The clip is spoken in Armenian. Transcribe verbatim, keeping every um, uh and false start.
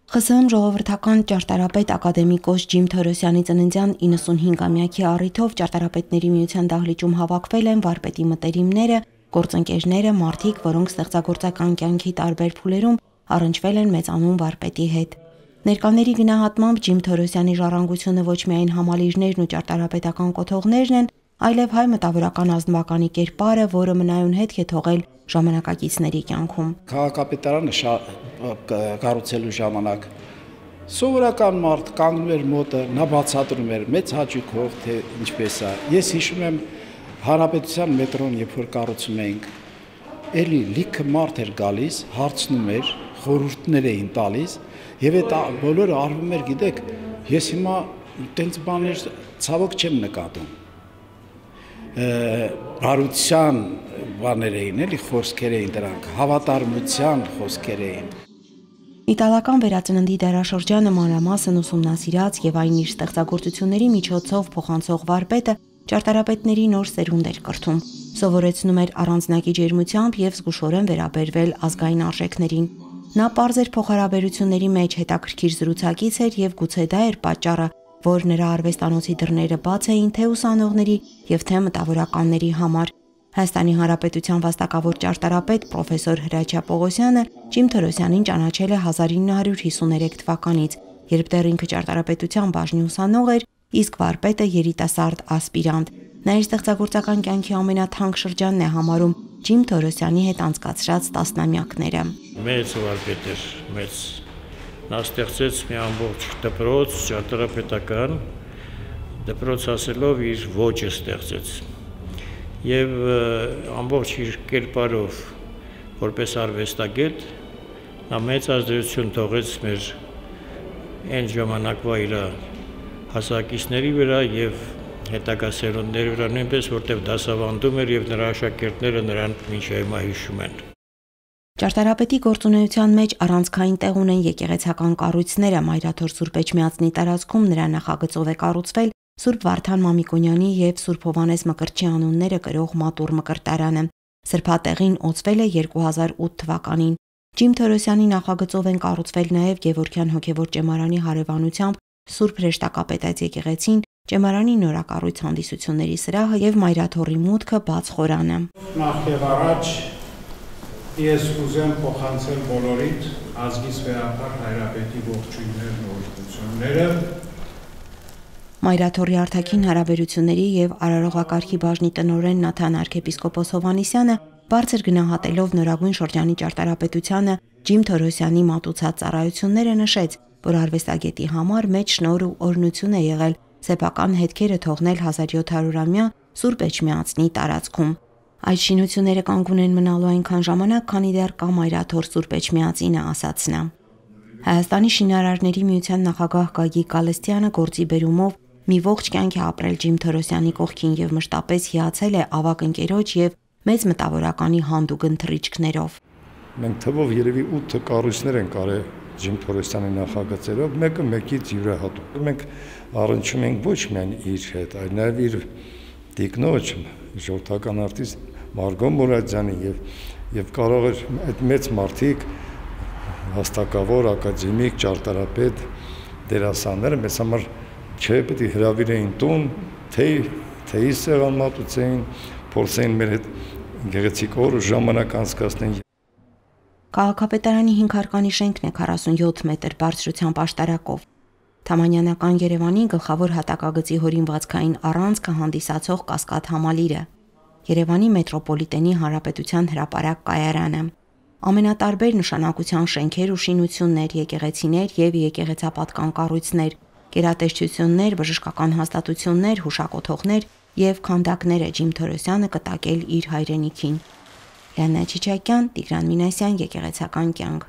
Խ Ս Հ ժողովրդական ճարտարապետ ակադեմիկոս Ջիմ Թորոսյանի ծննդյան իննսունհինգամյակի առիթով ճարտարապետների միության դահլիճում հավաքվել են վարպետի մտերիմները, գործընկերները, մարդիկ, որոնք ստեղծագործական կյանքի տարբեր փուլերում առնչվել են մեծանուն վարպետի հետ։ Ներկաների գնահատմամբ Ջիմ Թորոսյանի ժառանգությունը ոչ միայն համալիրներն ու ճարտարապետական կոթողներն են, այլև հայ մտավորական ազնվականի կերպարը, որը մնայուն հետք է թողել ժամանակակիցների կյանքում։ Քաղաքապետարանը կառուցելու ժամանակ սովորական մարդ կանգնում էր մոտը, նա բացատրում էր մեծ հաճույքով, թե ինչպես է։ Ես հիշում եմ Հանրապետության մետրոն, երբ որ կառուցում էինք, էլի լիքը մարդ էր գալիս, հարցնում էր, խորհուրդներ էին տալիս, եւ այդ բոլորը արվում էր, գիտեք, ես հիմա տենց բաներ ցավոք չեմ նկատում։ Բարության բաներ էին, էլի խոսքեր էին դրանք, հավատարմության խոսքեր էին։ Իտալական վերածննդի դարաշրջանը մանրամասն ուսումնասիրած եւ այն իր ստեղծագործությունների միջոցով փոխանցող վարպետը ճարտարապետների նոր սերունդ էր կրթում, սովորեցնում էր առանձնակի ջերմությամբ եւ զգուշորեն վերաբերվել ազգային արժեքներին։ Նա պարզ էր փոխհարաբերությունների մեջ հետաքրքիր զրուցակից էր եւ գուցե դա էր պատճառը, որ նրա արվեստանոցի դռները բաց էին թե ուսանողների եւ թե մտավորականների համար։ Հայաստանի Հանրապետության վաստակավոր ճարտարապետ պրոֆեսոր Հրաչյա Պողոսյանը Ջիմ Թորոսյանին ճանաչել է հազար ինը հարյուր հիսուներեք թվականից, երբ դեռ ինքը ճարտարապետության բաժնի ուսանող էր, իսկ վարպետը երիտասարդ ասպիրանտ։ Նա իր ստեղծագործական կյանքի ամենաթանկ շրջանն է համարում Ջիմ Թորոսյանի հետ անցկացրած տասնամյակները։ Մեծ վարպետ էր, մեծ։ Նա ստեղծեց մի ամբողջ դպրոց, ճարտարապետական դպրոց ասելով իր ոճը ստեղծեց։ Եվ ամբողջ իր կերպարով, որպես արվեստագետ, նա մեծ ազդեցություն թողեց մեր այն ժամանակվա իր հասակիցների վրա եւ հետագա սերունդների վրա, նույնպես որտեղ դասավանդում էր եւ նրա աշակերտները նրան մինչ հիմա հիշում են։ Ճարտարապետի գործունեության մեջ առանցքային տեղ ունեն եկեղեցական կառույցները, Մայրաթոր Սուրբ Էջմիածնի տարածքում նրա նախագծով է կառուցվել Սուրբ Վարդան Մամիկոնյանի եւ Սուրբ Հովհաննես Մկրտչի անունները կրող մատուռ մկրտարանը։ Սրբատեղին օծվել է երկու հազար ութ թվականին։ Ջիմ Թորոսյանի նախագծով են կառուցվել նաեւ Գևորգյան հոգևոր ճեմարանի հարևանությամբ Սուրբ Հրեշտակապետած եկեղեցին, ճեմարանի նորակառույց հանդիսությունների սրահը եւ Մայրաթորի մուտքը բաց խորանը։ Նախ եւ առաջ ես ուզեմ փոխանցել բոլորիդ ազգիս վերապար հայրապետի ողջույններն ու օրհնությունները։ Մայրաթորի արտաքին հարաբերությունների եւ արարողակարգի բաժնի տնօրեն Նաթան arczepiskopos Հովհաննիսյանը բարձր գնահատելով նորագույն շրջանի ճարտարապետությանը Ջիմ Թորոսյանի մատուցած ծառայությունները նշեց, որ արվեստագետի համար մեծ շնորհ ու օրհնություն է եղել սեփական հետքերը թողնել հազար յոթ հարյուրամյա Սուրբ Էջմիածնի տարածքում։ Այդ շինությունները կանգուն են մնալու այնքան ժամանակ, քանի դեռ կա Մայրաթոր Սուրբ Էջմիածինը, ասաց նա։ Հայաստանի շինարարների միության նախագահ Գագիկ Գալստյանը գործի բերումով մի ողջ կյանք է ապրել Ջիմ Թորոսյանի կողքին եւ մշտապես հիացել է ավագ ընկերոջ եւ մեծ մտավորականի հանդուգն թռիչքներով։ Մենք թվով երևի ութ կառույցներ ենք արել Ջիմ Թորոսյանի նախագծերով, մեկը մեկից յուրահատուկ։ Մենք առնչում ենք ոչ միայն իր հետ, այլ նաեւ իր տիկնոջ, ժողովրդական արտիստ Մարգո Մուրադյանի եւ եւ կարող էր այդ մեծ մարդիկ հաստակավոր ակադեմիկ ճարտարապետ դերասանները մեզ համար չէ պետք է հրավիրեին տուն, թե թեյի սեղան մատուցեին, փորձեին մեր հետ գեղեցիկ օր ու ժամանակ անցկացնեն։ Քաղաքապետարանի հինգ հարկանի շենքն է քառասունյոթ մետր բարձրությամբ աշտարակով։ Թամանյանական Երևանի գլխավոր հատակագծի հորինվածքային առանցքը հանդիսացող Կասկադ համալիրը, Երևանի մետրոպոլիտենի հանրապետության հրապարակ կայարանը, ամենատարբեր նշանակության շենքեր ու շինություններ, եկեղեցիներ եւ եկեղեցապատկան կառույցներ, գերատեսչություններ, բժշկական հաստատություններ, հուշակոթողներ եւ քանդակներ է Ջիմ Թորոսյանը կտակել իր հայրենիքին։ Լիանա Չիչակյան, Տիգրան Մինասյան, Եկեղեցական կյանք։